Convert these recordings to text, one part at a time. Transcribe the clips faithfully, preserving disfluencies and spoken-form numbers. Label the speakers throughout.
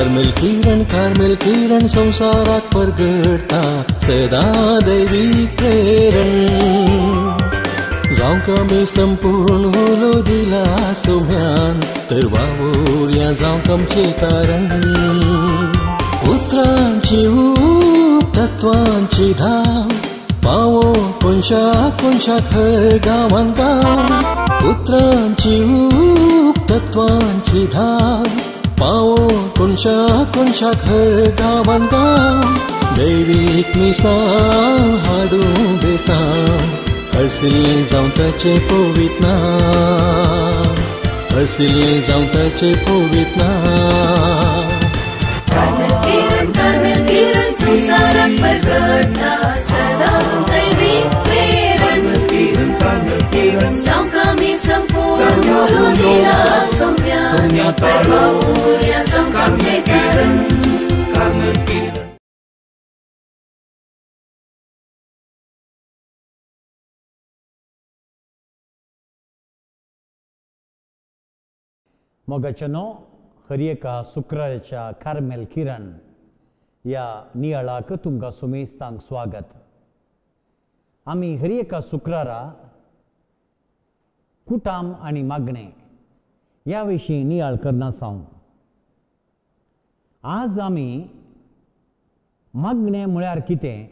Speaker 1: Carmel किरण Carmel किरण संवसाराक परगडटा सदां दैवीक प्रेरण जावंक आमी संपूर्ण उलो दिला सोम्यान तर वावुरया जावंक आमचें तारण उतरांची ऊब तत्वांची धाव पावो कोनशा कोनशाक हर गांवान गांव उतरांची ऊब तत्वांची धाव पावो कोनशा कोनशाक हर गांवान गांव दैवीक मिसांव हाडूं बेसांव हरसिल्लें जावं ताचें पवित्र नांव हरसिल्लें जावं ताचें पवित्र नांव.
Speaker 2: कार्मेल किरण कार्मेल किरण संवसाराक परगडटा सदां दैवीक प्रेरण जावंक आमी संपूर्ण उलो दिला सोम्यान तर वावुरया जावंक आमचें तारण.
Speaker 3: मोगाच्यानो हर एका शुक्राराच्या कार्मेल किरण ह्या नियाळाक तुमकां सुमेस्तांक स्वागत. आमी हर एका शुक्रारा कुटाम आनी मागणें ह्या विशीं नियाळ करनासांव. आज आमी मागणें म्हळ्यार कितें,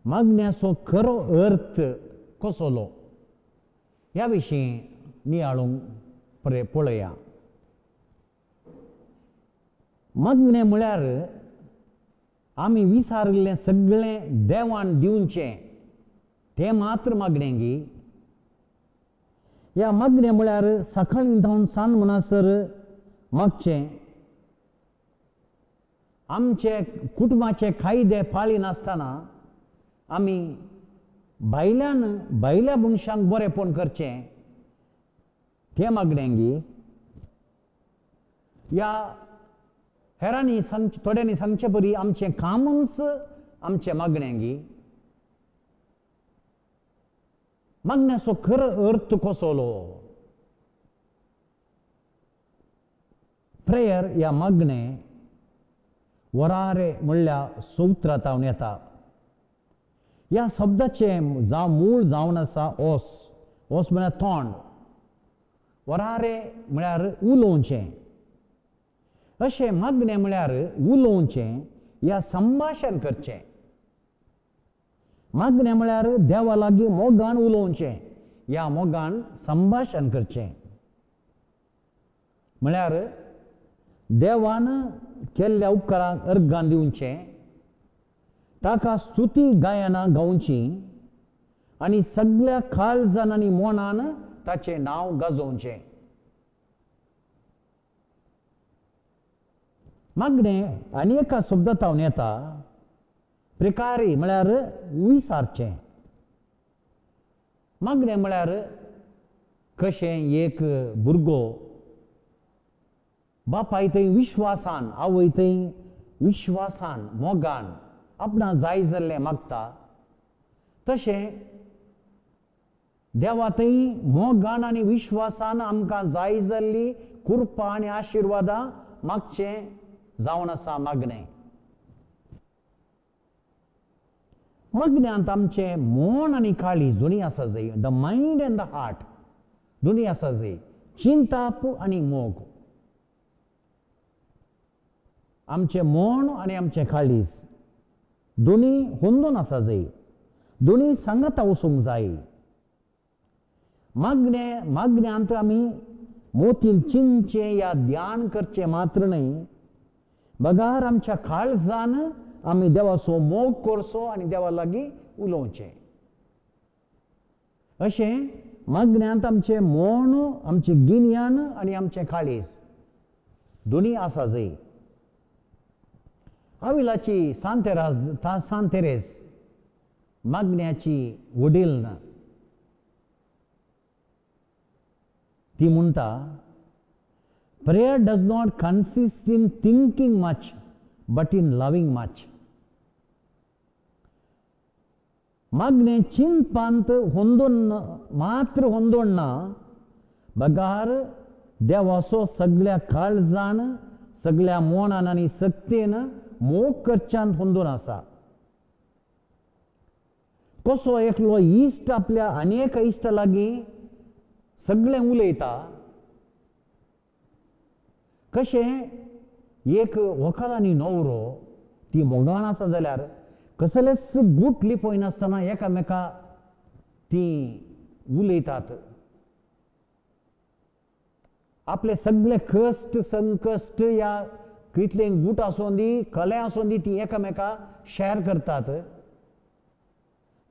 Speaker 3: मागण्याचो खरो अर्थ कसलो ह्या विशीं नियाळूंक पळया. मागणें म्हळ्यार आमी विसारिल्लें सगळें देवान दिवचें तें मात्र मागणें गी. ह्या मागणें म्हळ्यार सकाळीं धांवन सांज म्हणसर मागचें, आमचे कुटुंबाचे कायदे पाळिनासतना आमी भायल्यान भायल्या मनशांक बरेंपण करचें तें मागणें गी. ह्या हेरांनी सांगचे थोड्यांनी सांगचे परी आमचें कामूच आमचें मागणें गी. मागण्याचो खरो अर्थ कसलो? प्रेयर ह्या मागणें वरारे म्हणल्यार सुत्रांत येता. ह्या शब्दाचें जावं मूळ जावन आसा ओस. ओस म्हळ्यार तोंड, वरारे म्हळ्यार उलोवचें. अशें मागणें म्हळ्यार उलोवचें या संभाशण करचें. मागणें म्हळ्यार देवा लागीं मोगान उलोवचें या मोगान संभाशण करचें. म्हळ्यार देवान केल्ल्या उपकारांक अर्गान दिवचें, ताका स्तुती गायनां गावचीं आनी सगळ्या काळजान आनी मनान ताचें नांव गाजोवचें. मागणें आनी एका शब्दांत येता प्रिकारी म्हळ्यार विसारचें. मागणें म्हळ्यार कशें एक भुरगो बापाय थंय विश्वासान, आवय थंय विश्वासान मोगान आपणा जाय जाल्लें मागता, तशें देवा थंय मोगान आनी विश्वासान आमकां जाय जाल्ली कृपा आनी आशिर्वादां मागचें जावन आसा मागणें. मागण्यांत आमचें मन आनी काळीज दोनी आसा जाय, the mind and the heart दोनी आसा जाय, चिंताप आनी मोग. आमचें मन आनी आमचें काळीज दोनी होंदून आसा जाय, दोनी सांगाता वचूंक जाय. मागणें मागण्यांत आमी मोतीन चिंतचें या ध्यान करचें मात्र न्हय, बगार आमच्या काळजान आमी देवाचो मोग करचो आनी देवा लागीं उलोवचें. अशें मागण्यांत आमचें मन, आमचें गिन्यान आनी आमचें काळीज दोनी आसा जाय. आविलाची सांतेराज सांतेरेस मागण्याची वडील ना. ती म्हणटा, prayer does not consist in thinking much but in loving much. मागणें चिंतपांत होंदोन मात्र होंदोन ना, बगार देवाचो सगळ्या काळजान सगळ्या मोनान आनी सक्तेन मोग करच्यांत हुंदून आसा. कसो एकलो इश्ट आपल्या अनेक इश्टा लागीं सगळें उलयता, कशें एक व्हंकल आनी न्हवरो ती मोगान आसा जाल्यार कसलेच गूट लिपयनासतना एकामेका ती उलयतात. आपले सगळे कश्ट संकश्ट या कितले गूट आसूं दी कले आसूं दी ती एकामेका शेअर करतात.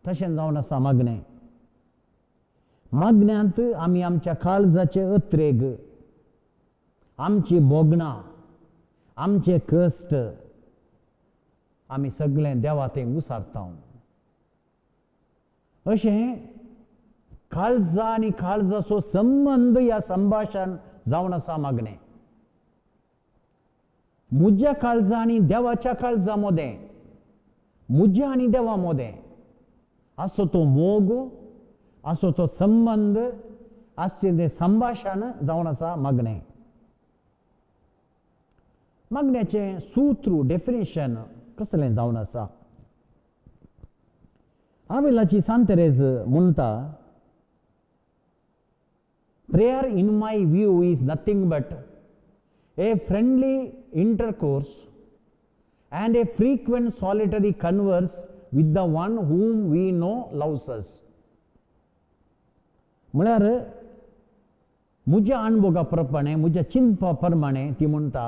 Speaker 3: तशें जावन आसा मागणें. मागण्यांत आमी आमच्या काळजाचे अत्रेग, आमची भोगणां, आमचे कश्ट आमी सगळें देवा तें उसारता. अशें काळजा आनी काळजाचो संबंद ह्या संभाशण जावन आसा मागणें. म्हज्या काळजा आनी देवाच्या काळजा मदें, म्हज्या आनी देवा मदें आसो तो मोग, आसो तो संबंद, आसचें तें संभाशण जावन आसा मागणें. मागण्याचें सूत्र डेफिनेशन कसलें जावन आसा? आवेलाची सांतेरेज म्हणटा, Prayer in my view is nothing but a friendly intercourse and a frequent solitary converse with the one whom we know loves us. म्हळ्यार म्हज्या अणभोगा प्रमाणे, म्हज्या चिंतपा प्रमाणे ती म्हणटा,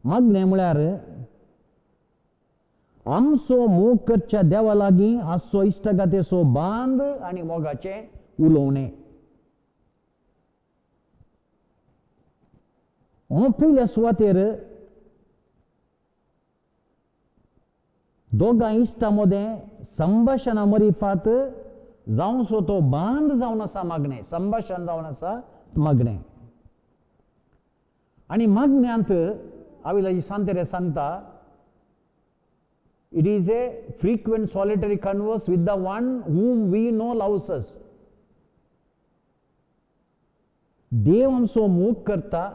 Speaker 3: मागणें म्हळ्यार आमचो मोग करच्या देवा लागीं आसचो इश्टागतीचो बांद आनी मोगाचें उलोवणें. पयल्या सुवातेर दोगां इश्टां मदें संभाशणा मरिफात जावचो तो बांद जावन आसा मागणें, संभाशण जावन आसा मागणें. आनी मागण्यांत आविलाजी सांतेरे सांगता, it is a frequent solitary converse with the one whom we know loves us. देव आमचो मोग करता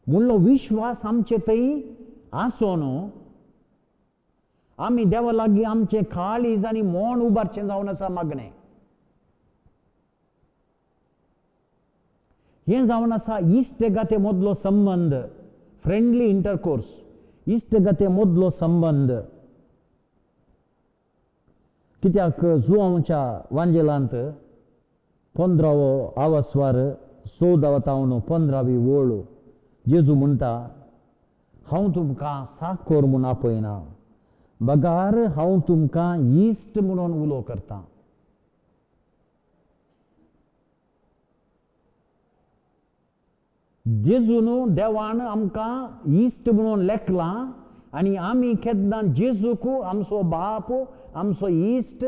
Speaker 3: म्हणलो विश्वास आमचे थंय आसो न्हू, आमी देवा लागीं आमचें काळीज आनी मोन उबारचें जावन आसा मागणें. हें जावन आसा इश्टगाते मदलो संबंद, फ्रेंडली इंटरकोर्स, इश्टगाते मदलो संबंद. कित्याक जुवांच्या वांजेलांत पंदरावो आवस्वार चवदावा तावन पंदरावी ओळ जेजू म्हणटा, हांव तुमकां साखर म्हूण आपयना, बगार हांव तुमकां इश्ट म्हणून उलो करतां. जेजून देवान आमकां इश्ट म्हणून लेखलां आनी आमी केन्ना जेजूक आमचो बाप, आमचो इश्ट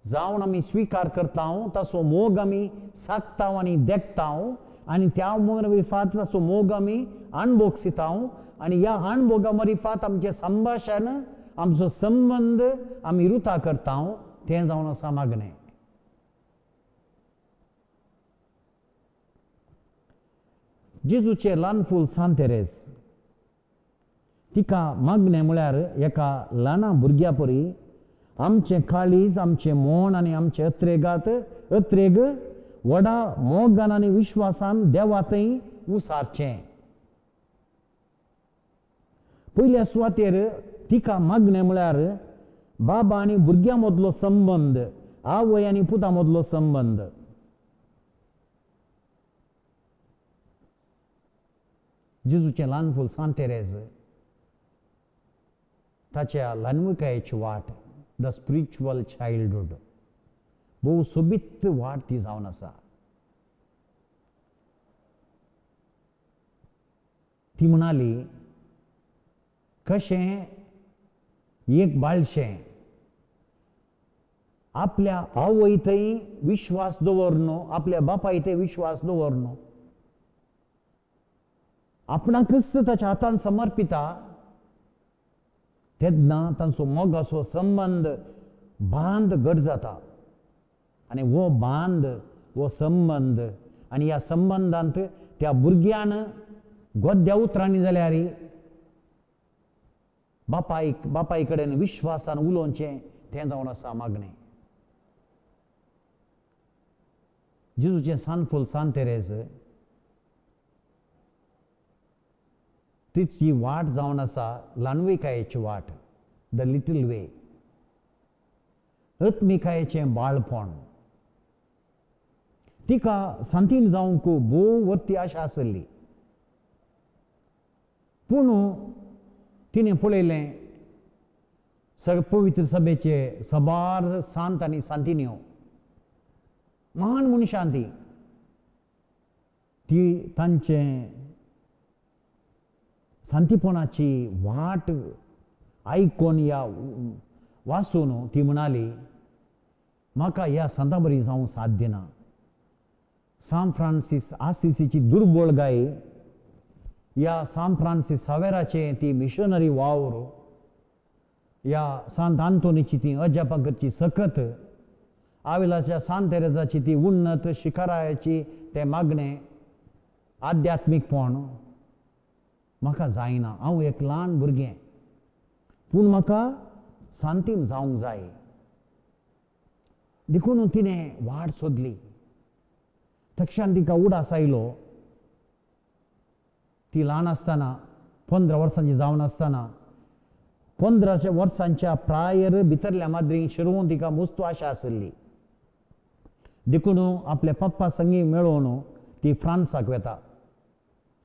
Speaker 3: जावन आमी स्विकार करता, ताचो मोग आमी सागता आनी देखता आनी त्या मरिफात ताचो मोग आमी अणभोगसिता आनी ह्या अणभोगा मरिफात आमचें संभाशण, आमचो संबंद आमी रुता करता, तें जावन आसा मागणें. जेजूचें ल्हान फूल सांतेरेज तिका मागणें म्हळ्यार एका ल्हाना भुरग्या परी आमचें काळीज, आमचें मोन आनी आमचें अत्रेगात अत्रेग व्हडा मोगान आनी विश्वासान देवा थंय उसारचें. पयल्या सुवातेर तिका मागणें म्हळ्यार बाबा आनी भुरग्यां मदलो संबंद, आवय आनी पुता मदलो संबंद. जेजूचें ल्हान फूल सांतेरेज ताच्या ल्हानविकायेची वाट, the spiritual childhood, भोव सोबीत वाट ती जावन आसा. ती म्हणाली, कशें एक बाळशें आपल्या आवय थंय विश्वास दवरनो, आपल्या बापाय थंय विश्वास दवरनो, आपणाकच ताच्या हातान समर्पिता, तेन्ना तांचो मोगाचो संबंद बांद घट जाता आनी हो बांद, हो संबंद आनी ह्या संबंदांत त्या भुरग्यान गोद्या उतरांनी जाल्यार बापायक बापाय कडेन विश्वासान उलोवचें तें जावन आसा मागणें. जेजूचें सानफूल सांत तेरेज तिची वाट जावन आसा ल्हानविकायेची वाट, the little वे, आत्मिकायेचें बाळपण. तिका सांतीन जावंक भोव वर्ती आशा आसली, पूण तिणें पळयलें सग पवित्र सभेचे सबार सांत आनी सांतिन्यो महान मनशां ती ती तांचें सांतीपणाची वाट आयकून या वाचून ती म्हणाली, म्हाका ह्या सांता बरी जावंक साध्य ना. सान फ्रांसीस आसिसीची दुर्बळ गाय, ह्या सान फ्रांसीस सावेराचें ती मिशनरी वावर, ह्या सांत आंतोनीची ती अजापां करची सकत, आविलाच्या सांत तेरेजाची ती उन्नत शिखराची तें मागणें आध्यात्मीकपण म्हाका जायना. हांव एक ल्हान भुरगें, पूण म्हाका सांतीन जावंक जाय. देखून तिणें वाट सोदली. तक्षान तिका उडास आयलो, ती ल्हान आसतना पंदरा वर्सांची जावन आसतना पंदराच्या वर्सांच्या प्रायर भितरल्या माद्रींक शिरोवन तिका मुस्तू आशा आसली. देखून आपल्या पप्पा संगी मेळोवन ती फ्रांसाक वता,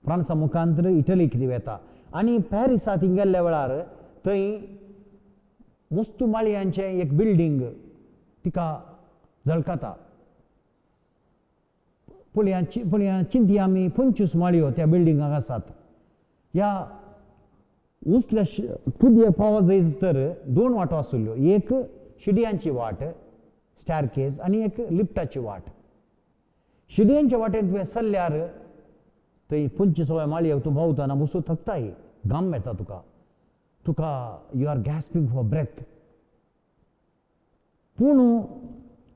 Speaker 3: फ्रांसा मुखांतर इटलीक ती वता आनी पॅरिसा ती गेल्ल्या वेळार थंय मुस्तू माळयांचें एक बिल्डींग तिका झळकता. पळया पळया चिंतया आमी पंचवीस माळयो त्या बिल्डिंगाक आसात. ह्या उंचल्या तुदये पावो जायत तर दोन वाटो आशिल्ल्यो, एक शिडयांची वाट स्टॅरकेज आनी एक लिफ्टाची वाट. शिडयांच्या वाटेन तुवें सरल्यार थंय पंचवीस माळयेक तूं भोंवतना बसून थकताय, घाम मेळटा तुका, तुका you are gasping for breath. पूण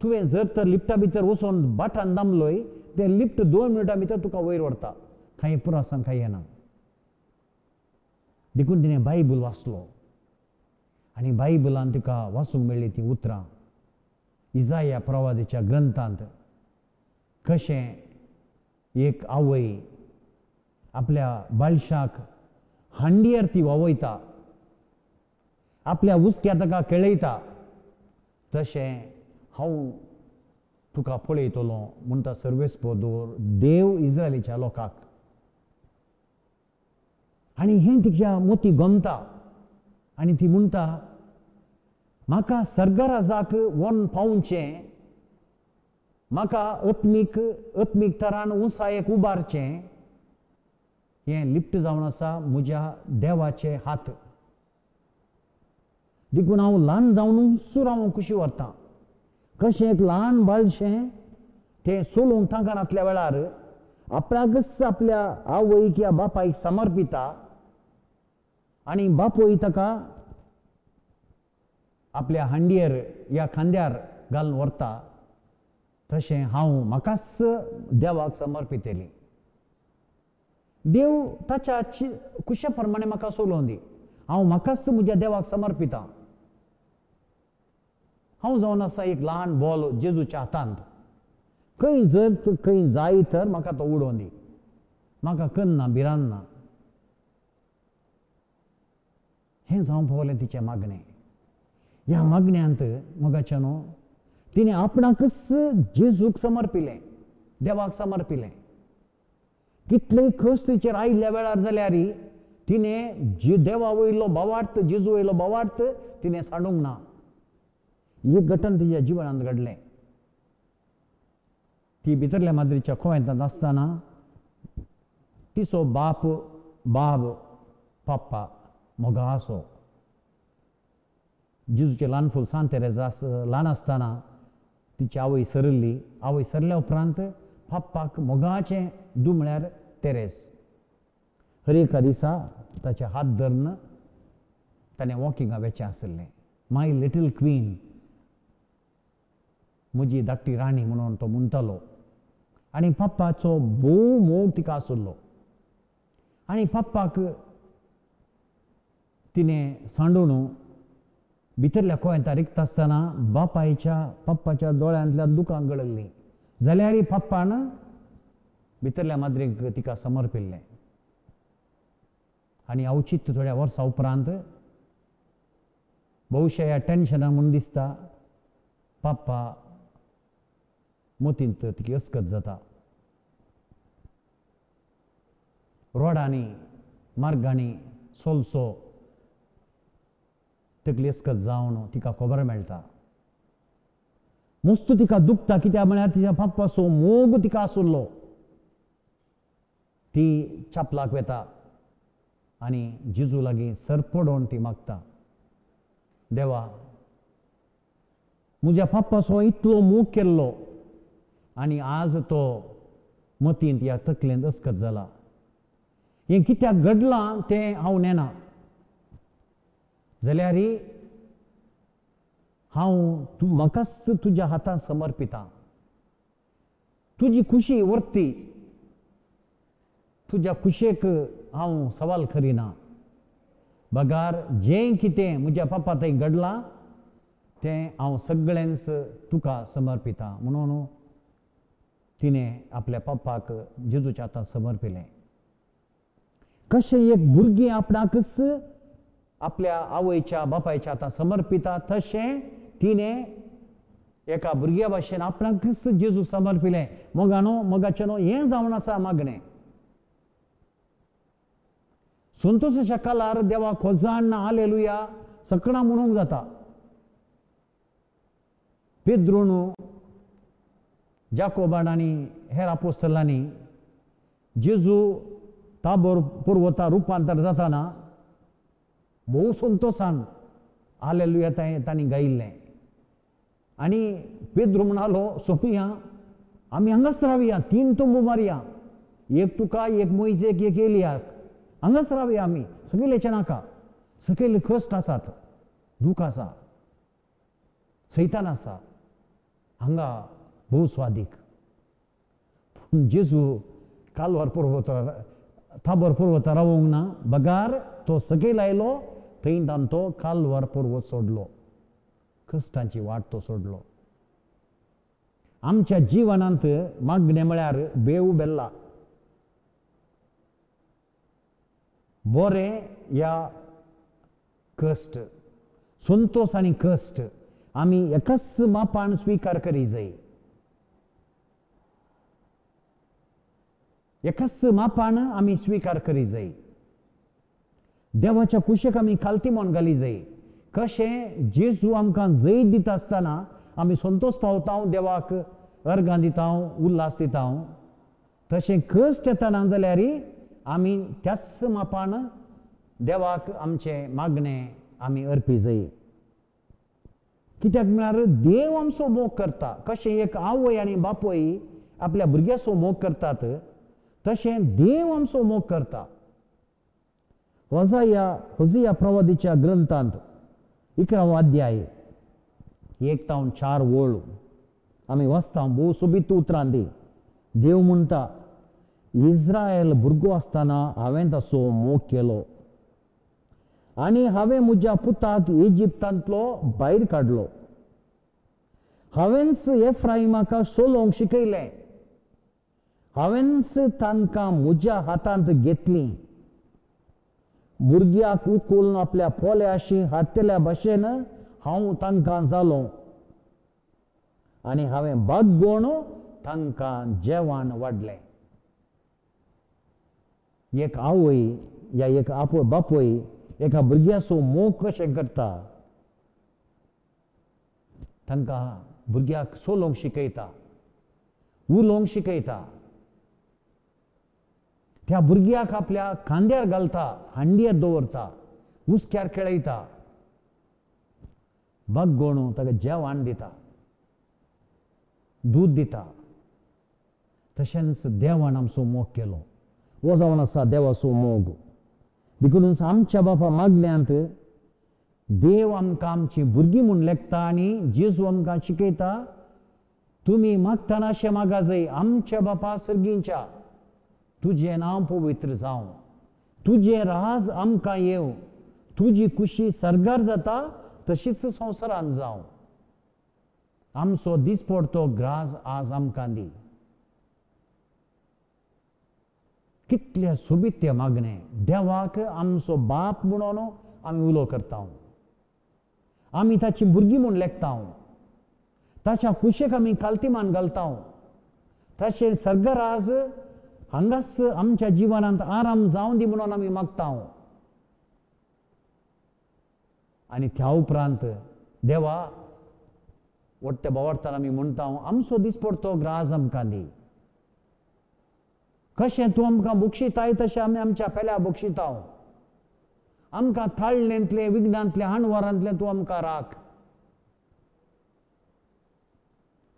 Speaker 3: तुवें जर तर लिफ्टा भितर वचून बटन दामलोय तें लिफ्ट दोन मिनटां भितर तुका वयर व्हरता, कांय पुरासान कांय येना. देखून तिणें बायबल वाचलो आनी बायबलान तिका वाचूंक मेळ्ळी तीं उतरां इजाया प्रवादीच्या ग्रंथांत, कशें एक आवय आपल्या बाळशाक हांडयेर ती वावयता, आपल्या हुस्क्या ताका खेळयता, तशें हांव तुका पळयतलो म्हणटा सर्वेस्पदोर देव इस्रायलीच्या लोकांक. आनी हें तिच्या मोती गमता आनी ती म्हणटा, म्हाका सर्गराजाक वन पावचें, म्हाका आत्मीक आत्मीक तरान उंचायेक उबारचें, हें लिप्ट जावन आसा म्हज्या देवाचे हात. देखून हांव ल्हान जावन सुर हांव खुशी व्हरतां. कशें एक ल्हान बाळशें तें सोलूंक तांकां वेळार आपणाकच आपल्या आवयक या बापायक समर्पिता आनी बापूय ताका आपल्या हांडयेर या खांद्यार घालून व्हरता, तशें हांव म्हाकाच देवाक समर्पितली. देव ताच्या खुशे प्रमाणे म्हाका सोलोवन दी, हांव म्हाकाच म्हज्या देवाक समर्पिता. हांव जावन आसा एक ल्हान बॉल जेजूच्या हातांत, खंय जर खंय जाय तर म्हाका तो उडोवन दी, म्हाका कन्ना भिरांत ना. हें जावंक पावलें तिचें मागणें. ह्या मागण्यांत मोगाच्या न्हू तिणें आपणाकच जेजूक समर्पिलें, देवाक समर्पिलें. कितलेय कश्ट तिचेर आयिल्ल्या वेळार जाल्यार तिणें जे देवा वयलो भावार्थ, जेजू वयलो भावार्थ तिणें सांडूंक ना. एक घटन तिच्या जिवनांत घडलें. ती भितरल्या माद्रीच्या कोवेंतांत आसतना तिचो बाप बाब पप्पा मोगासो जेजूचें ल्हान फूल सांत तेरेजा ल्हान आसतना तिची आवय सरली. आवय सरल्या उपरांत पप्पाक मोगाचें दू म्हळ्यार तेरेज. हर एका दिसा ताचे हात धरून ताणें वॉकिंगा वेचें आशिल्लें. माय लिटील क्वीन, म्हजी धाकटी राणी म्हणून तो म्हणटालो. आनी पप्पाचो भोव मोग तिका आशिल्लो. आनी पप्पाक तिणें सांडून भितरल्या कोयंता रिकता आसतना बापायच्या पप्पाच्या दोळ्यांतल्यान दुकां गळिल्लीं. जाल्यार पप्पान भितरल्या माद्रीक तिका समर्पिल्लें. आनी अवचीत थोड्या वर्सां उपरांत बहुशा ह्या टेन्शना म्हूण दिसता पप्पा मतींत तिका अस्कत जाता. रोडांनी मार्गांनी सोलसो तकली अस्कत जावन तिका खबर मेळटा. मुस्त तिका दुखता, कित्याक म्हळ्यार तिच्या पप्पाचो मोग तिका आशिल्लो. ती चपलाक वेता आनी जेजू लागीं सरपडोवन ती मागता, देवा म्हज्या पप्पाचो इतलो मोग केल्लो आनी आज तो मतींत ह्या तकलेंत अस्कत जाला. हें कित्याक घडलां तें हांव नेना, जाल्यार हांव तूं म्हाकाच तुज्या हातांत समर्पिता. तुजी खुशी वर्ती, तुज्या खुशेक हांव सवाल करिना, बगार जें कितें म्हज्या पप्पा थंय घडलां तें हांव सगळेंच तुका समर्पिता. म्हणून तिणें आपल्या पप्पाक जेजूच्या हातांत समर्पिलें. कशें एक भुरगीं आपणाकच आपल्या आवयच्या बापायच्या हातांत समर्पिता, तशें तिणें एका भुरग्या भाशेन आपणाकच जेजूक समर्पिलें. मोगानो मोगाचें न्हू हें जावन आसा मागणें. संतोशाच्या कालार देवाक होजान हालेलुया सकणां म्हणूंक जाता. पेद्रून जाकोबान आनी हेर आपोस्तलांनी जेजू ताबोर पर्वता रुपांतर जाताना भोव संतोशान हालेलुया तांणी गायिल्लें. आनी पेद्रू म्हणालो, सोंपिया आमी हांगाच रावया, तीन तंबू मारया, एक तुका, एक मोयजेक, एक एलियाक, हांगाच रावया आमी, सकयल्याचें नाका, सकयल कश्ट आसात, दूख आसा, सैतान आसा, हांगा भोव स्वादीक. पूण जेजू कालवार पर्वतार ताबोर पर्वतार रावूंक ना, बगार तो सकयल आयलो, थंय ताण तो कालवार पर्वत सोडलो, कश्टांची वाट तो सोडलो. आमच्या जिवनांत मागणें म्हळ्यार बेव बेल्ला बरें या कश्ट, संतोश आनी कश्ट आमी एकाच मापान स्विकार करी जाय. एकाच मापान आमी स्विकार करी जाय. देवाच्या कुशेक आमी खालती म्हण घाली जाय. कशें जेजू आमकां जैत दिता आसतना आमी संतोश पावता, देवाक अर्गां दिता, उल्हास दिता, तशें कश्ट येतना जाल्यार आमी त्याच मापान देवाक आमचें मागणें आमी अर्पी जाय. कित्याक म्हळ्यार देव आमचो मोग करता. कशें एक आवय आनी बापूय आपल्या भुरग्याचो मोग करतात, तशें देव आमचो मोग करता. होजाया होजिया प्रवादीच्या ग्रंथांत इकरावो अध्याय एक तावन चार वळ आमी वाचता. भोव सोबीत उतरां ती. देव म्हणटा, इस्रायल भुरगो आसतना हांवें ताचो मोग केलो आनी हांवें म्हज्या पुताक इजिप्तांतलो भायर काडलो. हांवेंच एफ्राइमाक सोलोवंक शिकयलें, हांवेंच तांकां म्हज्या हातांत घेतलीं. भुरग्याक उखलून आपल्या पोल्याशी हाडटल्या भाशेन हांव तांकां जालो आनी हांवें बागोवन तांकां जेवण वाडलें. एक आवय या एक आपय बापूय एका भुरग्याचो मोग कशें करता, तांकां भुरग्याक सोलोवंक शिकयता, उलोवंक शिकयता, त्या भुरग्याक आपल्या खांद्यार घालता, हांड्यार दवरता, हुस्क्यार खेळयता, बागोवन ताका जेवण दिता, दूद दिता. तशेंच देवान आमचो मोग केलो. हो जावन आसा देवाचो मोग. देखून आमच्या बापा मागण्यांत देव आमकां आमची भुरगीं म्हूण लेखता आनी जेजू आमकां शिकयता, तुमी मागतना अशें मागा जाय, आमच्या बापा सर्गींच्या तुजें नांव पवित्र जावं, तुजें राज आमकां येवं, तुजी खुशी सर्गार जाता तशीच संवसारांत जावं. आमचो दिसपडतो ग्रास आज आमकां दी. कितले सोबीत ते मागणे. देवाक आमचो बाप म्हणून आमी उलो करता, आमी ताची भुरगीं म्हूण लेखता, ताच्या कुशेक आमी कालतीमान घालता. तशें सर्गराज हांगाच आमच्या जिवनांत आराम जावं दी म्हणून आमी मागता. आनी त्या उपरांत देवा वट्टे बोवाळटान आमी म्हणटा, आमचो दिसपडतो ग्रास आमकां दी. कशें तूं आमकां बक्षिताय तशें आमी आमच्या पेल्या बक्षिता. आमकां थाळणेंतलें, विघ्नांतलें, हाणवारांतलें तूं आमकां राख.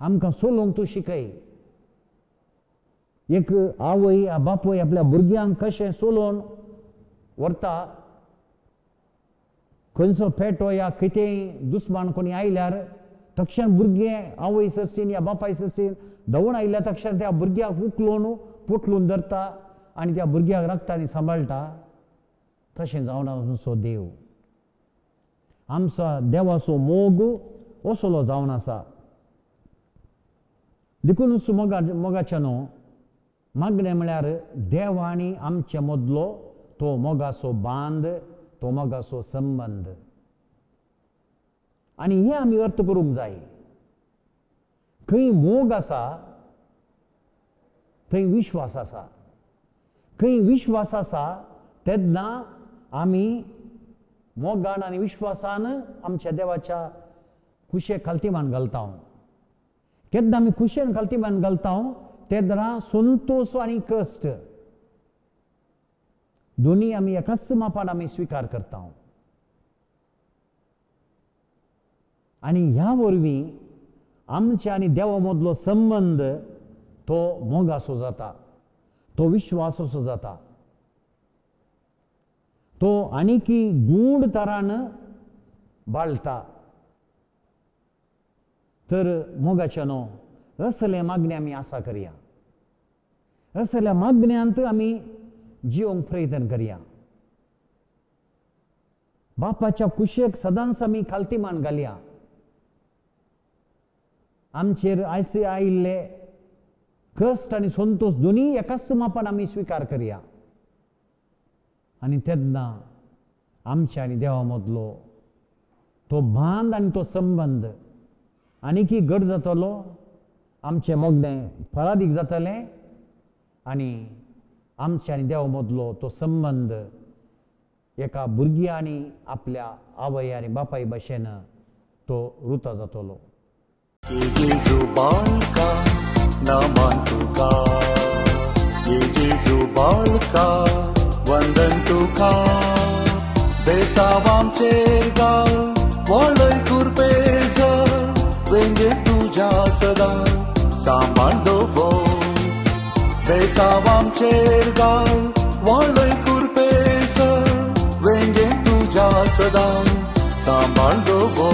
Speaker 3: आमकां सोलोवंक तूं शिकय. एक आवय बापूय आपल्या भुरग्यांक कशें सोलोवन व्हरता, खंयचो पेटो या कितेंय दुस्मान कोणी आयल्यार तक्षण भुरगें आवय ससीन या बापाय ससीन धांवून आयल्या तक्षण त्या भुरग्याक उखलून पोटलून धरता आनी त्या भुरग्याक राखता आनी सांबाळटा. तशें जावन आमचो देव, आमचो देवाचो मोग असलो जावन आसा. देखून मोगा मोगाच्या न्हू मागणें म्हळ्यार देव आनी आमचे मदलो तो मोगाचो बांद, तो मोगाचो संबंद. आनी हें आमी अर्थ करूंक जाय. खंय मोग आसा थंय विश्वास आसा, खंय विश्वास आसा तेन्ना आमी मोगान आनी विश्वासान आमच्या देवाच्या कुशेक खालतीमान घालता. केन्ना आमी कुशेन खालतीमान घालता तेन्ना संतोश आनी कश्ट दोनी आमी एकाच मापान आमी स्विकार करता. आनी ह्या वरवीं आमच्या आनी देवा मदलो संबंद तो मोगासो जाता, तो विश्वासाचो जाता, तो आनीकी गूढ तरान बाळटा. तर मोगाच्या न्हू असले मागणे आमी आसा करया, असल्या मागण्यांत आमी जिवंक प्रयत्न करया. बापाच्या कुशेक सदांच आमी खालतीमान घालया. आमचेर आयसे आयिल्ले कश्ट आनी संतोश दोनी एकाच मापान आमी स्विकार करया. आनी तेन्ना आमच्या आनी देवा मदलो तो बांद आनी तो संबंद आनीकी घट जातलो, आमचें मोगणें फळादीक जातलें आनी आमच्या आनी देवा मदलो तो संबंद एका भुरग्या आनी आपल्या आवय आनी बापाय भाशेन तो रुता जातलो.
Speaker 4: जेजू बालका नमन तुका, जेजू बालका वंदन तुका, बेसावामचेर गाल वळय कुरपेज, वेंगे तुज्या सदां सांबाळ दवर. बेसावामचेर गाल वळय कुरपेज, वेंगे तुज्या सदां सांबाळ दवर.